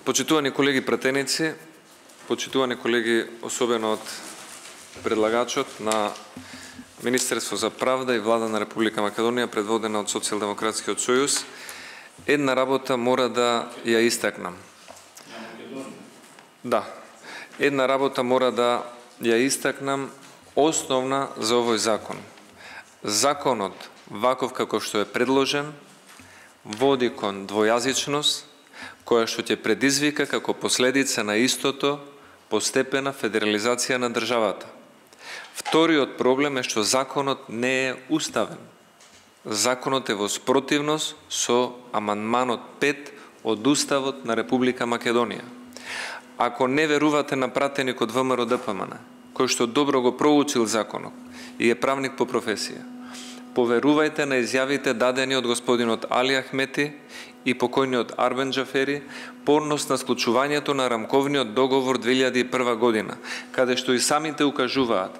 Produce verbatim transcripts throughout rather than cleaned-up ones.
Почитувани колеги пратеници, почитувани колеги, особено од предлагачот на Министерство за правда и Влада на Република Македонија, предводена од Социјалдемократскиот сојуз, една работа мора да ја истакнам. Да, една работа мора да ја истакнам, основна за овој закон. Законот, ваков како што е предложен, води кон двојазичност, која што ќе предизвика како последица на истото постепена федерализација на државата. Вториот проблем е што законот не е уставен. Законот е во спротивност со амандманот пет од Уставот на Република Македонија. Ако не верувате на пратеникот ВМРО Д П М Н, кој што добро го проучил законот и е правник по професија, поверувајте на изјавите дадени од господинот Али Ахмети и покојниот Арбен Джафери порнос на склучувањето на рамковниот договор две илјади и прва година, каде што и самите укажуваат: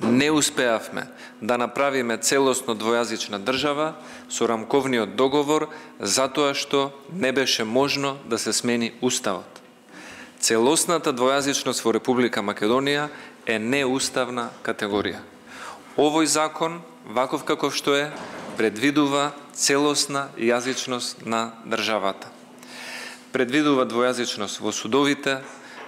не успеавме да направиме целосно двојазична држава со рамковниот договор затоа што не беше можно да се смени уставот. Целосната двојазичност во Република Македонија е неуставна категорија. Овој закон, ваков каков што е, предвидува целосна јазичност на државата. Предвидува двојазичност во судовите,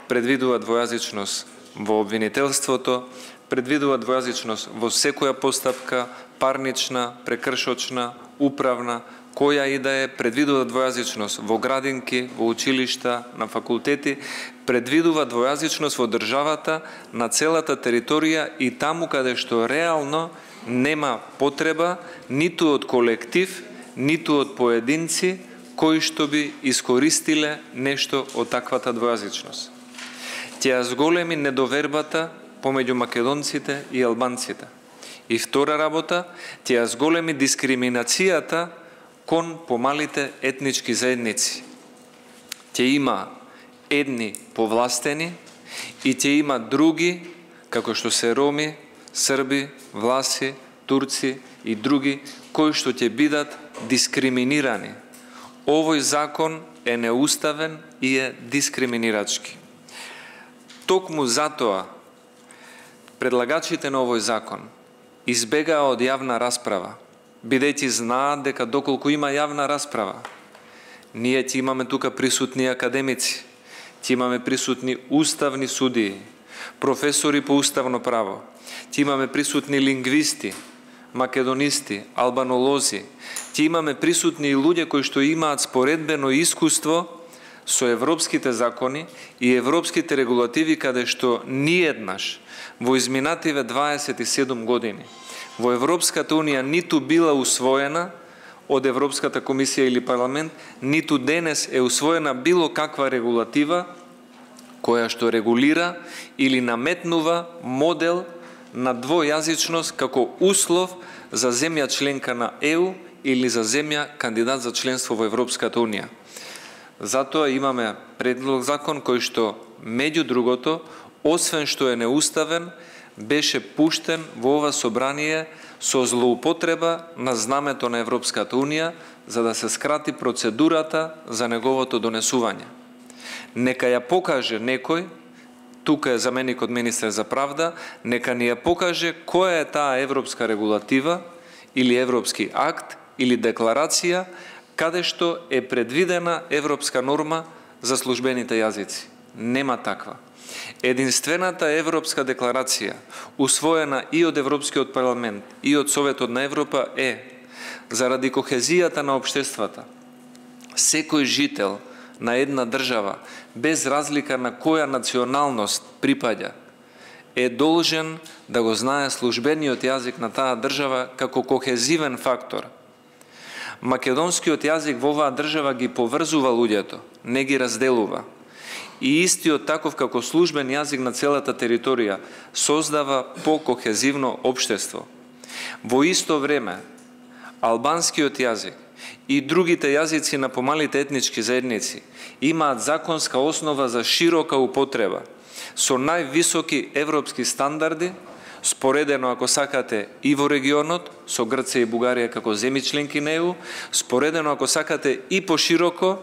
предвидува двојазичност во обвинителството, предвидува двојазичност во секоја постапка, парнична, прекршочна, управна, која и да е, предвидува двојазичност во градинки, во училишта, на факултети, предвидува двојазичност во државата на целата територија и таму каде што реално нема потреба ниту од колектив, ниту од поединци кои што би искористиле нешто од таквата двојазичност. Ќе ја зголеми недовербата помеѓу македонците и албанците. И втора работа, ќе ја зголеми дискриминацијата кон помалите етнички заедници. Ќе има едни повластени и ќе има други, како што се роми, срби, власи, турци и други, кои што ќе бидат дискриминирани. Овој закон е неуставен и е дискриминирачки. Токму затоа предлагачите на овој закон избегаа од јавна расправа, бидејќи знаат дека доколку има јавна расправа, ние ќе имаме тука присутни академици, ќе имаме присутни уставни судии, професори по уставно право, ќе имаме присутни лингвисти, македонисти, албанолози, ќе имаме присутни и луѓе кои што имаат споредбено искуство со европските закони и европските регулативи, каде што ниеднаш во изминативе дваесет и седум години во Европската Унија ниту била усвоена од Европската комисија или парламент, ниту денес е усвоена било каква регулатива која што регулира или наметнува модел на двојазичност како услов за земја членка на Е У или за земја кандидат за членство во Европската Унија. Затоа имаме предлог закон кој што, меѓу другото, освен што е неуставен, беше пуштен во ова собрание со злоупотреба на знамето на Европската Унија за да се скрати процедурата за неговото донесување. Нека ја покаже некој, тука е заменикот министер за правда, нека ни ја покаже која е таа европска регулатива или европски акт или декларација каде што е предвидена европска норма за службените јазици. Нема таква. Единствената европска декларација, усвоена и од Европскиот парламент и од Советот на Европа, е заради кохезијата на општествата. Секој жител на една држава, без разлика на која националност припаѓа, е должен да го знае службениот јазик на таа држава како кохезивен фактор. Македонскиот јазик во оваа држава ги поврзува луѓето, не ги разделува. И истиот таков како службен јазик на целата територија создава покохезивно општество. Во исто време, албанскиот јазик и другите јазици на помалите етнички заедници имаат законска основа за широка употреба, со највисоки европски стандарди, споредено, ако сакате, и во регионот, со Грција и Бугарија како земји членки на Е У, споредено, ако сакате, и пошироко,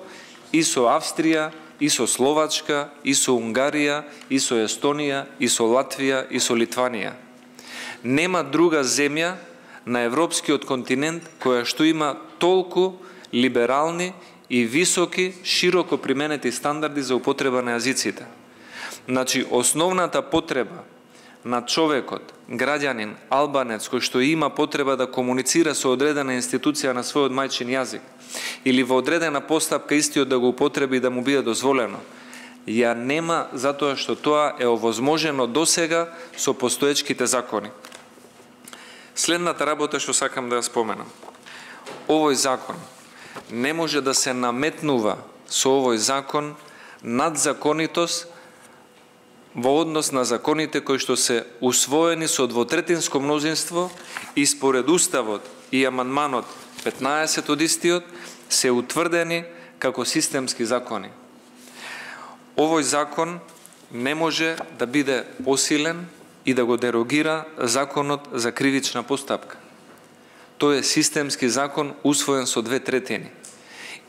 и со Австрија, и со Словачка, и со Унгарија, и со Естонија, и со Латвија, и со Литванија. Нема друга земја на европскиот континент која што има толку либерални и високи, широко применети стандарди за употреба на јазиците. Значи, основната потреба на човекот, граѓанин, албанец, кој што има потреба да комуницира со одредена институција на својот мајчин јазик, или во одредена постапка истиот да го употреби и да му биде дозволено, ја нема затоа што тоа е овозможено досега со постоечките закони. Следната работа што сакам да ја споменам. Овој закон не може да се наметнува со овој закон надзаконитост во однос на законите кои што се усвоени со двотретинско мнозинство и според Уставот и амандманот петнаесет од истиот се утврдени како системски закони. Овој закон не може да биде посилен и да го дерогира законот за кривична постапка. Тој е системски закон усвоен со две третини.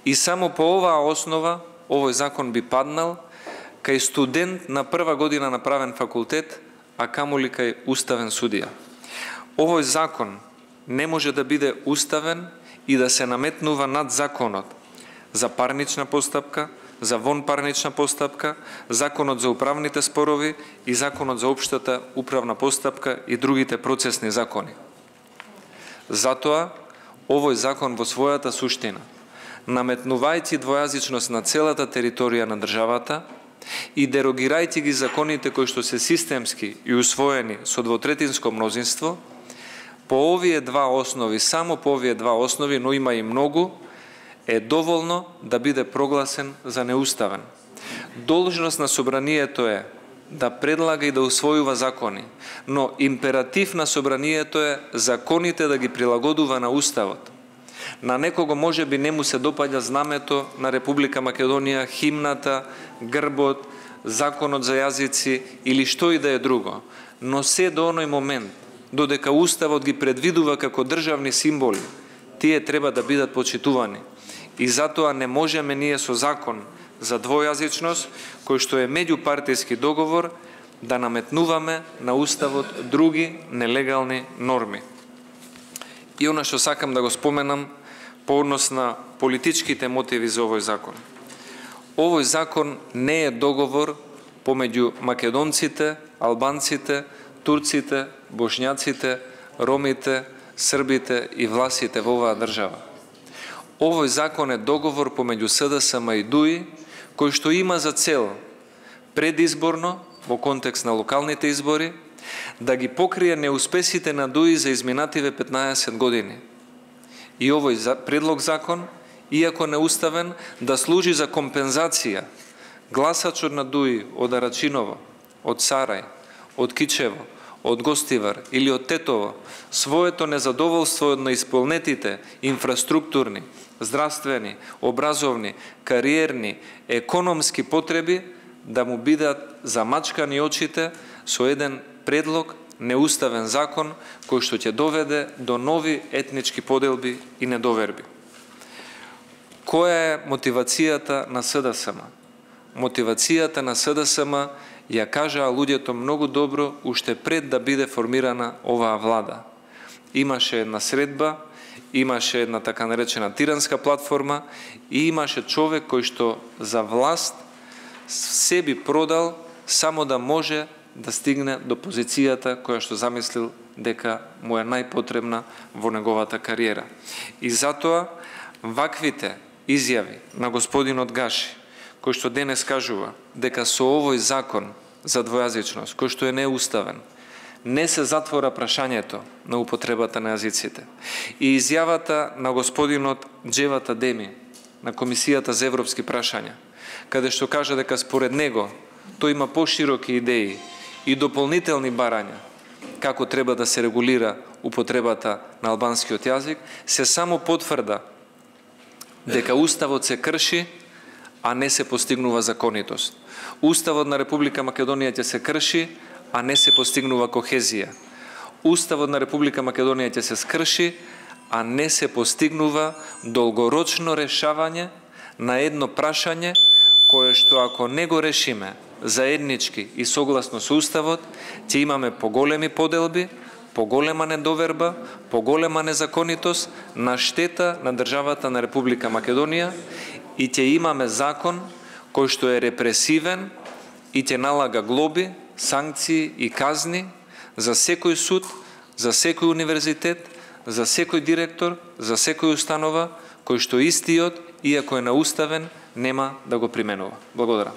И само по оваа основа овој закон би паднал кај студент на прва година на правен факултет, а камоли кај уставен судија. Овој закон не може да биде уставен и да се наметнува над законот за парнична постапка, за вонпарнична постапка, законот за управните спорови и законот за општата управна постапка и другите процесни закони. Затоа, овој закон во својата суштина, наметнувајќи двојазичност на целата територија на државата и дерогирајќи ги законите кои што се системски и усвоени со двотретинско мнозинство, по овие два основи, само по овие два основи, но има и многу, е доволно да биде прогласен за неуставен. Должност на собранието е да предлага и да усвојува закони, но императив на собранието е законите да ги прилагодува на Уставот. На некого може би не му се допаѓа знамето на Република Македонија, химната, грбот, законот за јазици или што и да е друго, но се до оној момент, додека Уставот ги предвидува како државни символи, тие треба да бидат почитувани. И затоа не можеме ние со закон за двојазичност, кој што е меѓупартијски договор, да наметнуваме на Уставот други нелегални норми. И она што сакам да го споменам по однос на политичките мотиви за овој закон. Овој закон не е договор помеѓу македонците, албанците, турците, бошњаците, ромите, србите и власите во оваа држава. Овој закон е договор помеѓу СДСМ и ДУИ, кој што има за цел предизборно, во контекст на локалните избори, да ги покрие неуспесите на ДУИ за изминативе петнаесет години. И овој предлог закон, иако неуставен, да служи за компензација гласачот на ДУИ од Арачиново, од Сарај, од Кичево, од Гостивар или од Тетово, своето незадоволство од неисполнетите инфраструктурни, здравствени, образовни, кариерни, економски потреби да му бидат замачкани очите со еден предлог, неуставен закон, кој што ќе доведе до нови етнички поделби и недоверби. Која е мотивацијата на СДСМ? Мотивацијата на СДСМ ја кажаа луѓето многу добро уште пред да биде формирана оваа влада. Имаше една средба, имаше една така наречена тиранска платформа и имаше човек кој што за власт се би продал само да може да стигне до позицијата која што замислил дека му е најпотребна во неговата кариера. И затоа ваквите изјави на господинот Гаши, кој што денес кажува дека со овој закон за двојазичност, кој што е неуставен, не се затвора прашањето на употребата на јазиците. И изјавата на господинот Джевата Деми на Комисијата за европски прашања, каде што кажа дека според него тој има пошироки идеи и дополнителни барања како треба да се регулира употребата на албанскиот јазик, се само потврда дека Уставот се крши, а не се постигнува законитост. Уставот на Република Македонија ќе се крши, а не се постигнува кохезија. Уставот на Република Македонија ќе се скрши, а не се постигнува долгорочно решавање на едно прашање кое што ако не го решиме заеднички и согласно со Уставот, ќе имаме поголеми поделби, поголема недоверба, поголема незаконитост на штета на државата на Република Македонија и ќе имаме закон кој што е репресивен и ќе налага глоби, санкции и казни за секој суд, за секој универзитет, за секој директор, за секој установа кој што истиот, иако е науставен, нема да го применува. Благодарам.